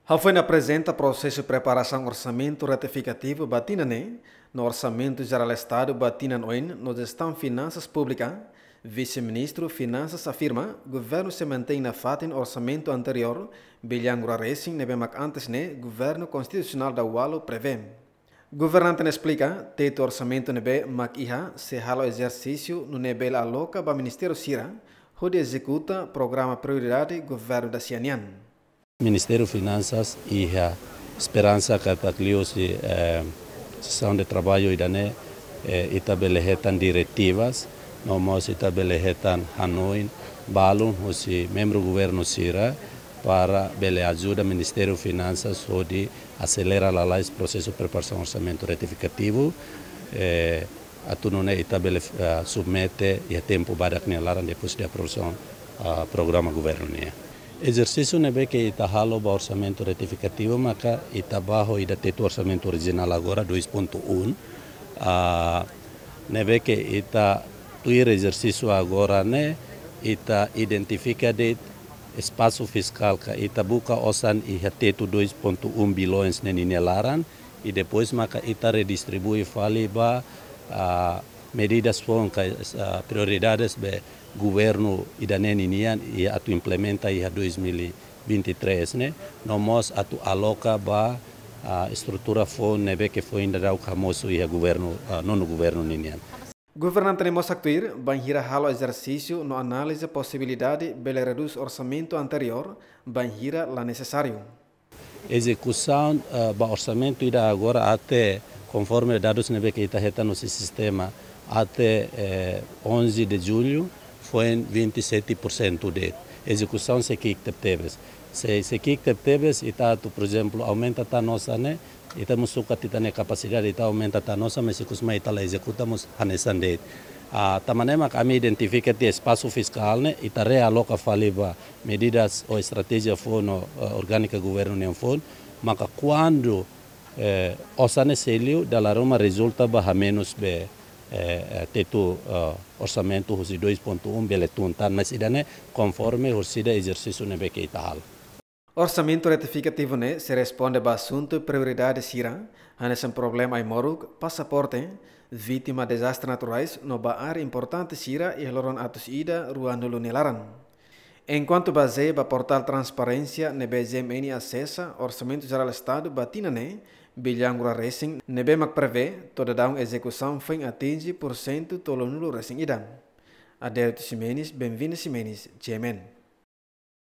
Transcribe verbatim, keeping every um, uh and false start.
Hafoin aprezenta prosesu preparasaun orsamentu retifikativu ba tinan ne'e, no Orsamentu Jerál Estadu ba tinan oin no Jestaun Finansas Públika, Vise-Ministru Finansas afirma, governu sei mantein nafatin orsamentu anteriór, bilhão rua resin ne'ebé mak antes ne'e governu konstitusionál daualu prevee. Governante ne'e esplika, tetu orsamentu ne'ebé mak iha sei halo ezersísiu nune'e bele aloka ba ministériu sira hodi ezekuta programa prioridade governu da-sia nian. Ministériu Finansas iha esperansa katak liuhusi, eh, sesaun de traballu ida-ne'e, eh, ita bele hetan diretivas, no mós ita bele hetan hanoin balun husi membru governu sira para bele ajuda Ministériu Finansas hodi aselera lalais prosesu preparasaun orsamentu retifikativu, eh, atu nune'e ita bele, eh, submete iha tempu badak nia laran depois de aprovasaun, ah, programa governu nian. Ezersísiu ne'ebé ke ita halo ba orsamentu retifikativu maka ita bá ho ida tetu orsamentu orijinál agora dois ponto um, ah, ne'ebé ke ita tuir ezersísiu agora ne'e ita identifika de'it espasu fiskál ka ita buka osan iha tetu dois ponto um bilhões ne'e ninia laran, i depois maka ita redistribui fali ba, ah, medidas foun ka, ah, prioridades be governu ida-ne'e ninian i atu implementa iha dois mil e vinte e três ne'e, no mós atu aloka ba, ah, estrutura foun ne'ebé ke foin daudaun hamosu iha governu, ah, nonu governu ninian. Governante ne'e mós haktuir, bainhira halo ezersísiu no analiza posibilidade bele redús orsamentu anteriór, bainhira la nesesáriu. Ezekusaun, eh, ba orsamentu ida agora até, konforme dadus ne'ebé ke ita hetan husi sistema, até, eh, onze de julho, foin vinte e sete por cento de'it. Ezekusaun sei ki'ik tebetebes. Sei, sei ki'ik tebetebes, ita atu, por ezemplu, aumenta tan osan ne'e, ita mós sukat ita-nia kapasidade, ita aumenta tan osan, mas ikus mai ita la ezekuta mós hanesan de'it. Ah, tanba ne'e mak ami identifika tiha espasu fiskál ne'e, ita realoka fali ba medidas ou estratéjia foun, eh, orgánika governu nian foun, maka kuandu, eh, osan ne'e sei liu, dala ruma rezulta ba hamenus be, eh, eh, tetu, eh, orsamentu husi dois ponto um bele tun tan, mas ida-ne'e konforme horisehik ezersísiu ne'ebé ke ita halo. Orsamentu retifikativu ne'e sei responde ba asuntu prioridade sira, hanesan problema ai-moruk, pasaporte, vítima dezastre naturais, no ba área importante sira iha loron atus ida ruanulu nia laran. Enkuantu bazeia ba portál transparénsia ne'ebé G M N asesa, Orsamentu Jerál Estadu ba tinan ne'e, bilhão rua resin, ne'ebé mak prevee, to'o daudaun ezekusaun foin atinje porsentu tolunulu resin ida. Adelito Ximenes, Benvina Ximenes, G M N.